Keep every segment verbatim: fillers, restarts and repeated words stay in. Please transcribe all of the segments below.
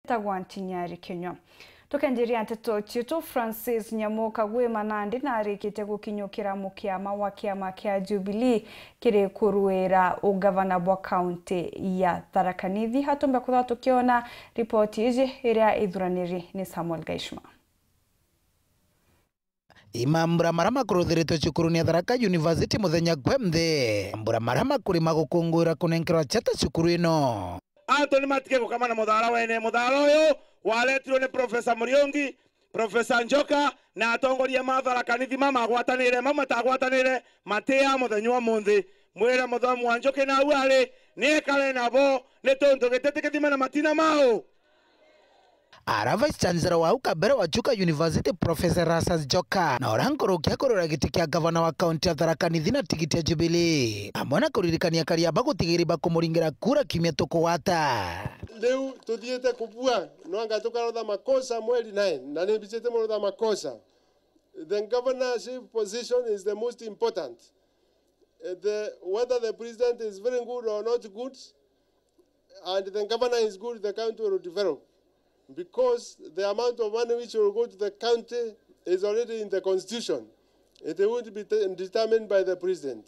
Tagwa Ntinyari Kinyua. Tukenjiria nteto cietu, Francis Nyamu Kagwima nandi narikitie gukinyukira mukiama wa kiama kia Jubilee kiri kuruira ugavana bwa kaunti ya Tharaka Nithi. Hatumbe kuthwa tukiona ripoti iji iria ithuraniri ni Samuel Gaishma. I mambura maria makuruthiritwe cukurune ya Tharaka University muthenya kwe nthi. Mambura maria makuri ma gukunguira kunenkerwa chata cukuru ino. Antu ni matige gukama na muthaara wene. Muthaara uyu waretirwe ni Professor Muriungi, Professor Njoka na atongoria ma Tharaka Nithi ma magwatanire, mau matagwatanire, matia muthenya umunthi. Mwire muthomi wa Njuki nau ari, niekare nabo, ni tontu giti ti kithima na matina mau. Ara Vice Chancellor wa au kabere wa Chuka University, Professor Erastus Njoka, na uria nkuruki akurira giti kia gavana wa kaunti ya Tharaka Nithi na tigiti ya Jubilee, amwe na kuririkania akari aba gutigiri bakumuringira kura kiumia tukugwata. Riu tuthiite kubua, nwanga tukarotha makosa mweri nine, na ni mbicite murotha makosa. The governorship position is the most important. Eh, the, whether the president is very good or not good, and the governor is good, the county will develop. Because the amount of money which will go to the county is already in the constitution. It won't be te-, determined by the president.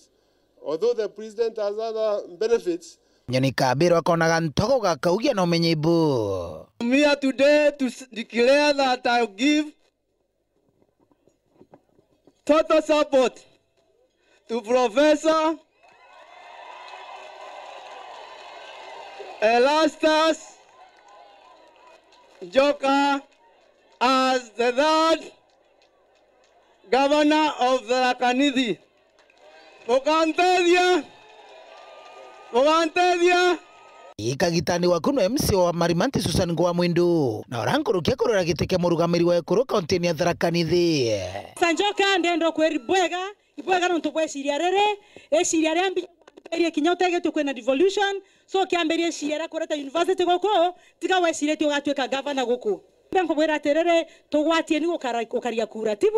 Although the president has other benefits. Nyoni kabirwa konaga ntogo gakaugia na umenye ibu. I'm here today to s-, declare that I give total support to Professor Erastus Njoka as the third governor of Tharaka Nithi. Mukantethia? Mukantethia? Ikagitani waku no M C wa Marimanti Susan Ngwa Mwindu, na uria nkuruki akurira giti kia murugamiri wa ekuru kauntini ya Tharaka Nithi. Sanjoka, ndenda kwiri bwega, ibwega nontu bwa iciria riri, iciria ria mbi kiambirie kinya utegetwe kwina devolution, so kiambirie iciria ria kureta university guku, tiga weciritie ugatuika gavana guku. Mbe nkubwira atiriri, tugwatieni gukara-, gukaria kura, tibu?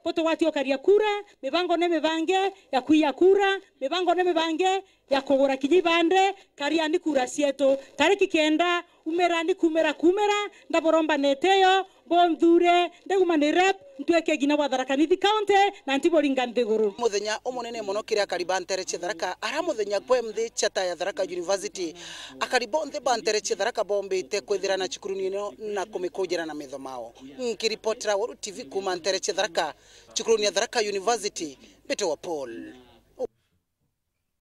Butugwatie ukaria kura, mibango ni mibange ya kwiya kura, mibango ni mibange ya kugura kinya ibande, kariani kura cietu. Tariki kenda, umirani kumira kumira, ndaburomba nete yo, bunthure, ndiguma ni rep, ntuike ngina bwa Tharaka Nithi County, na ntiburinga nthiguru. Muthenya umunene mono kiri akari ba ntere cia Tharaka, ara muthenya kwe nthi chata ya Tharaka University, akari bonthe ba ntere cia Tharaka bombite kwithira na cukuruni ino na kumikujira na metho mao. Nkiripotera Weru T V kuuma ntere cia Tharaka, cukuruni ya Tharaka University, mbite wa Paul.